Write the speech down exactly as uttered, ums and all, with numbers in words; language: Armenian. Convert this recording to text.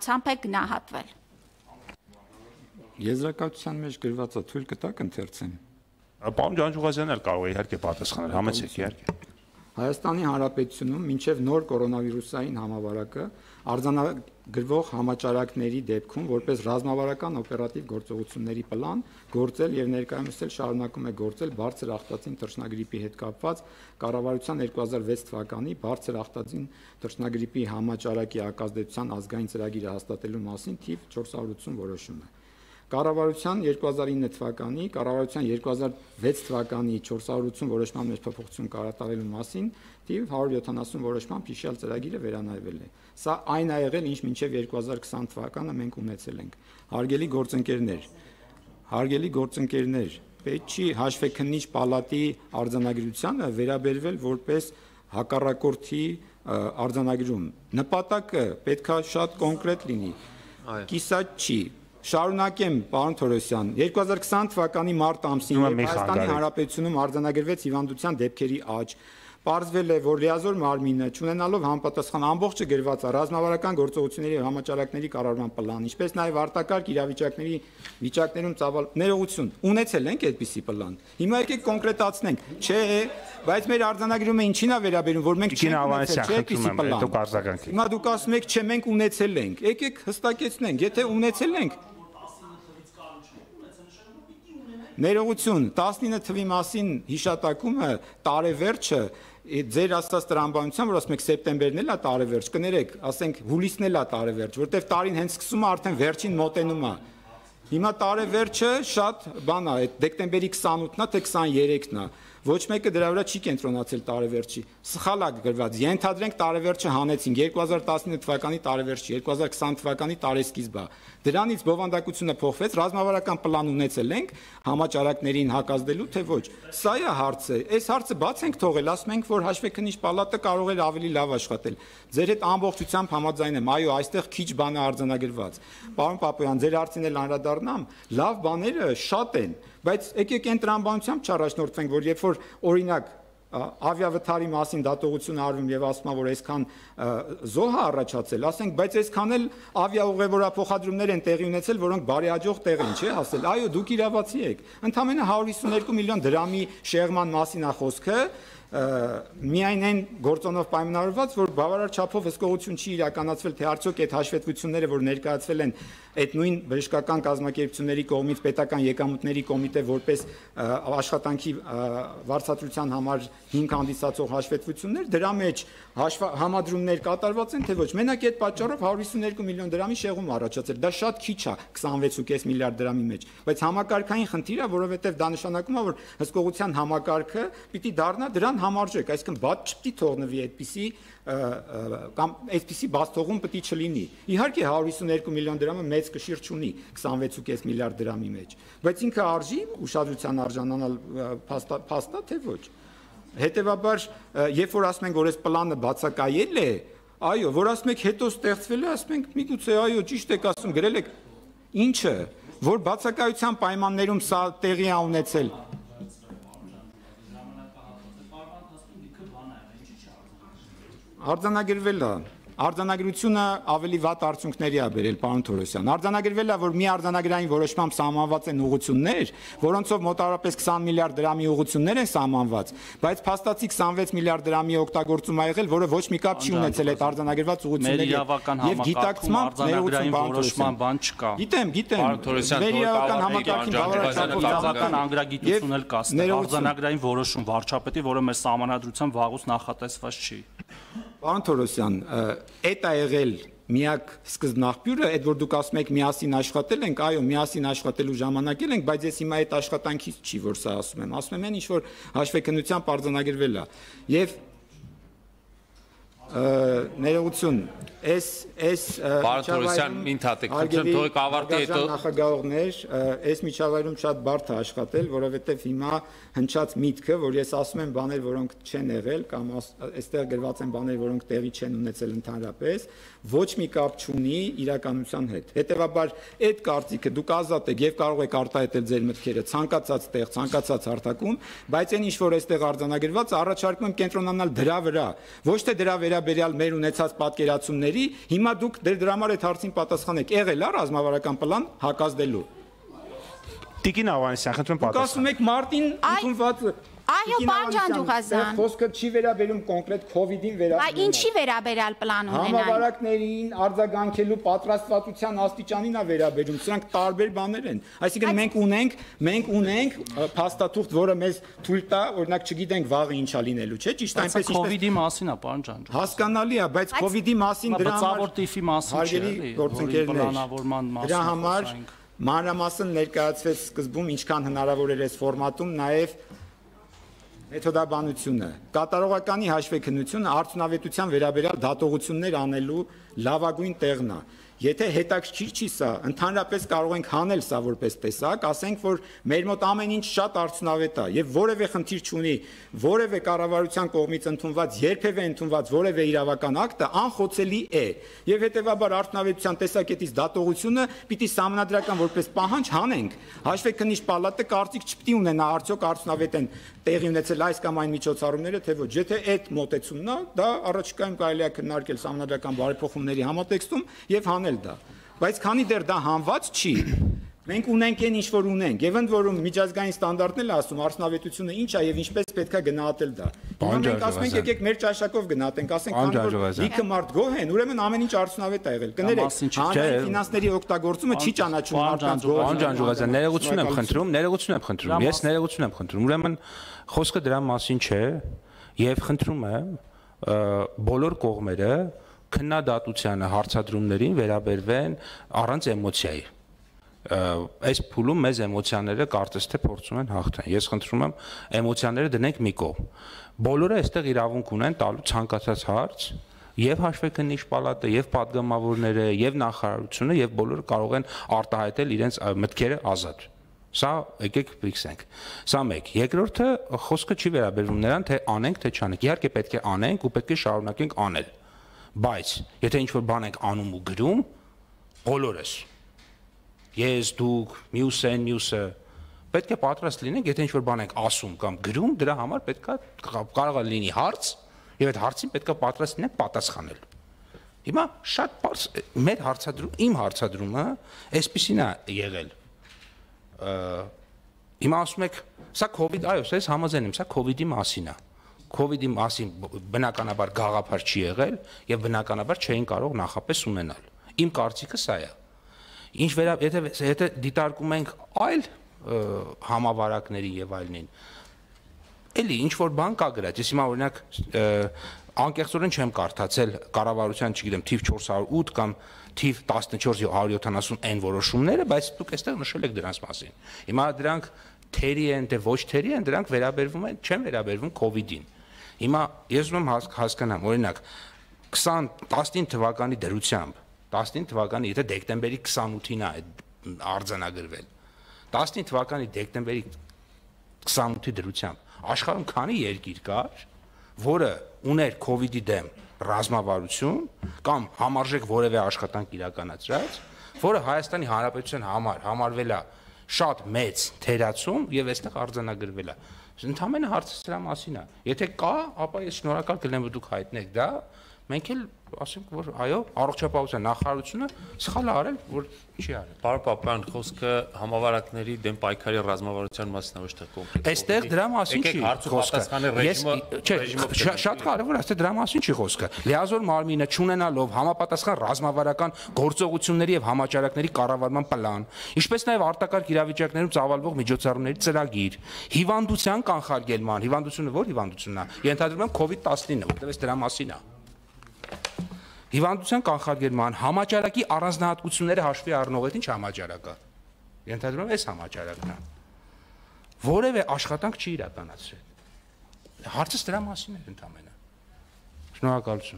հիվանդությամբ է գնահատվել։ Եզրակացության մեջ գրվածը թույլ կտակ ընթերցեմ։ Պարոն Ջանջուղազյանն էլ կարող է իհարկե պատասխանել, համեցեք իհարկե։ Հայաստանի Հանրապետությունում մինչև նոր կորոնավիրուսային համավարակը արձանագրվող համաճարակների դեպքում որպես ռազմավարական օպերատիվ գործողությունների պլան գործել եւ ներկայումս էլ շարունակում է գործել բարձր ախտածին թռչնագրիպի հետ կապված կառավարության երկու հազար վեց թվականի բարձր ախտածին թռչնագրիպի համաճարակի ակազդեցության ազգային ծրագիրը հաստատելու մասին թիվ չորս հարյուր ութսուն որոշումը։ Կառավարության երկու հազար ինը թվականի, կառավարության երկու հազար վեց թվականի չորս հարյուր ութսուն որոշման մեջ փոփոխություն կատարելու մասին թիվ հարյուր յոթանասուն որոշմամբ հիշյալ ծրագիրը վերանայվել է։ Սա այն ա եղել, ինչ մինչև երկու հազար քսան թվականը մենք ունեցել ենք։ Հարգելի գործընկերներ, հարգելի գործընկերներ, պետք չի հաշվեկնիչ պալատի արձանագրությանը վերաբերվել որպես հակառակորդի արձանագրում։ Նպատակը պետքա շատ կոնկրետ լինի։ Կիսատ չի։ Շարունակեմ, պարոն Թորոսյան, երկու հազար քսան թվականի մարտ ամսին Հայաստանի Հանրապետությունում արձանագրվեց հիվանդության դեպքերի աճ։ Պարզվել է, որ լիազոր մարմինը, չունենալով համապատասխան ամբողջը գրված է ռազմավարական գործողությունների եւ համաճարակների կառավարման պլան, ինչպես նաեւ արտակարգ իրավիճակների վիճակներում ծավալ ներողություն, ունեցել ենք այդպիսի պլան։ Հիմա եկեք կոնկրետացնենք, չէ, բայց մեր արձանագրումը ինչին է վերաբերում, որ մենք չենք ունեցել, չէ, այդպիսի պլան։ Հիմա դուք ասում եք, չէ, մենք ունեցել ենք։ Եկեք հստակեցնենք, եթե ունեցել ենք, ներողություն, տասնինը թվի մասին հիշատակումը տարեվերջը ձեր ասած տրամաբանությամբ, որ ասում եք սեպտեմբերն էլ է տարեվերջ, կներեք, ասենք հուլիսն էլ է տարեվերջ, որտեվ տարին հենց սկսում է արդեն վերջին մոտենում է։ Հիմա տարեվերջը շատ բան է, այդ դեկտեմբերի քսանութն է, թե քսաներեքն է։ Ոչ մեկը դրա վրա չի կենտրոնացել տարեվերջի։ Սխալ է գրված։ Ենթադրենք տարեվերջը հանեցինք երկու հազար տասնինը թվականի տարեվերջը, երկու հազար քսան թվականի տարեսկիզբը։ Դրանից բովանդակությունը փոխվեց, ռազմավարական պլան ունեցել ենք համաճարակներին հակազդելու, թե ոչ։ Սա է հարցը։ Այս հարցը բաց ենք թողել, ասում ենք, որ հաշվեկնիչ պալատը կարող էր ավելի լավ աշխատել։ Ձեր հետ ամբողջությամբ համաձայն եմ, այո, այստեղ քիչ բան է արձանագրված։ Պարոն Պապոյան, ձեր հարցին էլ անդրադառնամ, լավ բաները շատ են, բայց եկեք այն տրամաբանությամբ չառաջնորդվենք, որ երբ որ օրինակ ավիավթարի մասին դատողություն արվում եւ ասում է, որ այսքան զոհ է առաջացել, ասենք, բայց այսքան էլ ավիաուղևորափոխադրումներ են տեղի ունեցել, որոնք բարեհաջող տեղ են, չէ՞ ասել։ Այո, դուք իրավացի եք։ Ընդամենը հարյուր հիսուներկու միլիոն դրամի շեղման մասին է խոսքը, միայն այն գործոնով պայմանավորված, որ բավարար չափով հսկողություն չի իրականացվել, թե արդյոք այդ հաշվետվությունները, որ ներկայացվել են այդ նույն բժշկական կազմակերպությունների կողմից պետական եկամուտների կոմիտե որպես աշխատանքի վարձատրության համար հիմք հանդիսացող հաշվետվություններ, դրա մեջ համադրումներ կատարված են, թե ոչ։ Մենակ այդ պատճառով հարյուր հիսուներկու միլիոն դրամի շեղում առաջացել։ Դա շատ քիչ է քսանվեց ու կես միլիարդ դրամի մեջ, բայց համակարգային խնդիր է, որովհետև դա նշանակում է, որ հսկողության համակարգը պիտի դառնա դրան համարժեք, այսինքն բաց չպիտի թողնվի այդպիսի կամ այսպիսի բաց թողում պիտի չլինի։ Իհարկե հարյուր հիսուներկու միլիոն դրամը մեծ կշիռ չունի քսանվեց ու կես միլիարդ դրամի մեջ, բայց ինքը արժի ուշադրության արժանանալ փաստա, թե ոչ։ Հետևաբար, երբ որ ասում ենք, որ այս պլանը բացակայել է, այո, որ ասում եք հետո ստեղծվել է, ասում ենք միգուցե այո, ճիշտ եք ասում, գրել եք ինչը, որ բացակայության պայմաններում սա տեղի է ունեցել։ Արձանագրվել է, արձանագրությունը ավելի վատ արդյունքների է բերել, պարոն Թորոսյան։ Արձանագրվել է, որ մի արձանագրային որոշմամբ սահմանված են ուղղություններ, որոնցով մոտավորապես քսան միլիարդ դրամի ուղղություններ են սահմանված, բայց փաստացի քսանվեց միլիարդ դրամի օգտագործում ա եղել, որը ոչ մի կապ չի ունեցել այդ արձանագրված ուղղությունների եւ գիտակցման արձանագրային որոշման բան չկա։ Գիտեմ, գիտեմ։ Մեր իրավական համակարգին բավարարական անգրագիտություն էլ կա, արձանագրային որոշում վարչապետի, որը մեր սահմանադրությամբ վաղուց նախատեսված չի։ Պարոն Թորոսյան, այդ է եղել միակ սկզբնաղբյուրը, այդ որ դուք ասում եք միասին աշխատել ենք, այո, միասին աշխատելու ժամանակել ենք, բայց ես հիմա այդ աշխատանքից չի, որ սա ասում եմ, ասում եմ այն, ինչ որ հաշվեկնությամբ արձանագրվել է։ Եվ ներողություն, այս այս Պարոն Թորոսյան, ինթատեք, խնդրեմ թողեք ավարտի հետո նախագահողներ, այս միջավայրում շատ բարդ է աշխատել, որովհետև հիմա հնչած միտքը, որ ես ասում եմ բաներ, որոնք չեն եղել կամ այստեղ գրված են բաներ, որոնք տեղի չեն ունեցել ընդհանրապես, ոչ մի կապ չունի իրականության հետ։ Հետևաբար այդ կարծիքը դուք ազատ եք եւ կարող եք արտահայտել ձեր մտքերը ցանկացած տեղ, ցանկացած հարթակում, բայց այն ինչ որ այստեղ արձանագրված, առաջարկում եմ կենտրոնանալ դրա վրա, ոչ թե դրա վերաբերյալ վերաբերյալ մեր ունեցած պատկերացումների, հիմա դուք դրա համար այդ հարցին պատասխանեք, եղել է ռազմավարական պլան հակազդելու։ Տիկին Ավանեսյան, խնդրում պատասխան։ Ասում եք մարտին ընդունված Այո, պարոն Ջանջուղազյան։ Խոսքը չի վերաբերում կոնկրետ COVID-ին վերաբերում։ Այ ինչի վերաբերյալ պլան ունենային։ Համավարակներին արձագանքելու պատրաստվածության աստիճանին է վերաբերում։ Սրանք տարբեր բաներ են։ Այսինքն մենք ունենք, մենք ունենք փաստաթուղթ, որը մեզ թույլ տա, օրինակ, չգիտենք վաղը ինչա լինելու, չէ՞, ճիշտ այնպես ինչպես COVID-ի մասին է, պարոն Ջանջուղազյան։ Հասկանալի է, բայց COVID-ի մասին դրա համար տիֆի մասին չէ, գործընկերներ, պլանավորման մասին։ Դրա համար մանրամասն ներկայացվեց սկզբում ինչքան հնարավոր էր այս ֆորմատում, նաև մեթոդաբանությունը, կատարողականի հաշվեկնությունը արդյունավետության վերաբերյալ դատողություններ անելու լավագույն տեղն է։ Եթե հետաքրքիր չի սա, ընդհանրապես կարող ենք հանել սա որպես տեսակ, ասենք, որ մեր մոտ ամեն ինչ շատ արդյունավետ է եւ որևէ խնդիր չունի, որևէ կառավարության կողմից ընդունված, երբևէ ընդունված որևէ իրավական ակտը անխոցելի է։ Եվ հետեւաբար արդյունավետության տեսակետից դատողությունը պիտի սահմանադրական որպես պահանջ հանենք։ Հաշվեկնիչ պալատը կարծիք չպիտի ունենա արդյոք արդյունավետ են տեղի ունեցել այս կամ այն միջոցառումները, թե ոչ։ Եթե այդ մոտեցումն է, դա առաջիկայում կարելի է քննարկել սահմանադրական բարեփոխումների համատեքստում եւ հանել դա։ Բայց քանի դեռ դա հանված չի, մենք ունենք այն ինչ որ ունենք, եւ ընդ որում միջազգային ստանդարտներն էլ ասում արդյունավետությունը ինչ է եւ ինչպես պետք է գնահատել դա։ Հիմա մենք ասում ենք եկեք մեր ճաշակով գնահատենք, ասենք քանի որ լիքը մարդ գոհ են, ուրեմն ամեն ինչ արդյունավետ է եղել։ Կներեք, հանրային ֆինանսների օգտագործումը չի ճանաչում մարդկանց գոհ։ Պարոն Ջանջուղազյան, ներողություն եմ խնդրում, ներողություն եմ խնդրում։ Ես ներողություն եմ խնդրում։ Ուրեմն խոսքը դրա մասին չէ եւ խնդրում եմ բոլոր կողմերը քննադատությանը, հարցադրումներին վերաբերվեն առանց էմոցիայի։ Այս փուլում մեզ էմոցիաները կարծես թե փորձում են հաղթեն։ Ես խնդրում եմ էմոցիաները դնենք մի կողմ։ Բոլորը այստեղ իրավունք ունեն տալու ցանկացած հարց, եւ հաշվեկնիչ պալատը, եւ падգամավորները, եւ նախարարությունը, եւ բոլորը կարող են արտահայտել իրենց մտքերը ազատ։ Սա եկեք ֆիքսենք։ Սա մեկ։ Երկրորդը խոսքը չի վերաբերվում նրան, թե անենք, թե չանենք։ Իհարկե պետք է անենք ու պետք է շարունակենք անել։ Բայց եթե ինչ-որ բան ենք անում ու գրում, բոլորս ես, դուք, մյուսեն, մյուսը պետք է պատրաստ լինենք, եթե ինչ-որ բան ենք ասում կամ գրում, դրա համար պետք է կարող է լինի հարց, եւ այդ հարցին պետք է պատրաստ լինենք պատասխանել։ Հիմա շատ բարձ մեր հարցադրում, իմ հարցադրումը այսպեսին է եղել։ Հիմա ասում եք, սա COVID, այո, ես համաձայն եմ, սա COVID-ի մասին է։ COVID-ի մասին բնականաբար գաղափար չի եղել եւ բնականաբար չէին կարող նախապես ունենալ։ Իմ կարծիքը սա է։ Ինչ վերա եթե եթե դիտարկում ենք այլ համավարակների եւ այլնին, էլի ինչ որ բան կա գրած։ Ես հիմա օրինակ անկեղծորեն չեմ կարդացել կառավարության, չգիտեմ, թիվ չորս հարյուր ութ կամ թիվ տասնչորս հարյուր յոթանասուն N որոշումները, բայց դուք այստեղ նշել եք դրանց մասին։ Հիմա դրանք թերի են, թե ոչ թերի են, դրանք վերաբերվում են, չեն վերաբերվում COVID-ին։ Հիմա ես ուզում եմ հասկանամ, օրինակ տասնինը թվականի դրությամբ, տասնինը թվականի, եթե դեկտեմբերի քսանութին է արձանագրվել, տասնինը թվականի դեկտեմբերի քսանութի դրությամբ աշխարհում քանի երկիր կար, որը ուներ COVID-ի դեմ ռազմավարություն կամ համարժեք որևէ աշխատանք իրականացրած, որը Հայաստանի Հանրապետության համար համարվել է շատ մեծ թերացում եւ այստեղ արձանագրվել է։ Ընդհանրապես հարցը սրա մասին է։ Եթե կա, ապա ես շնորհակալ կլինեմ, որ դուք հայտնեք դա, մենք էլ ասենք, որ այո, առողջապահության նախարարությունը սխալ է արել, որ չի արել։ Պարոն Պապյան, խոսքը համավարակների դեմ պայքարի ռազմավարության մասին է, ոչ թե կոնկրետ։ Այստեղ դրա մասին չի խոսքը։ Չէ, շատ կարևոր է, այստեղ դրա մասին չի խոսքը։ Լիազոր մարմինը չունենալով համապատասխան ռազմավարական գործողությունների եւ համաճարակների կառավարման պլան, ինչպես նաեւ արտակարգ իրավիճակներում ծավալվող միջոցառումների ծրագիր, հիվանդության կանխարգելման, հիվանդությունը ո՞ր հիվանդությունն է։ Ենթադրում եմ COVID տասնինը, որտեղ դրա մասին է։ Հիվանդության կանխարգելման համաճարակի առանձնահատկությունները հաշվի առնող այդ ինչ համաճարակը։ Ենթադրում եմ այս համաճարակն է։ Որևէ աշխատանք չի իրականացրել։ Հարցը դրա մասին է ընդամենը։ Շնորհակալություն։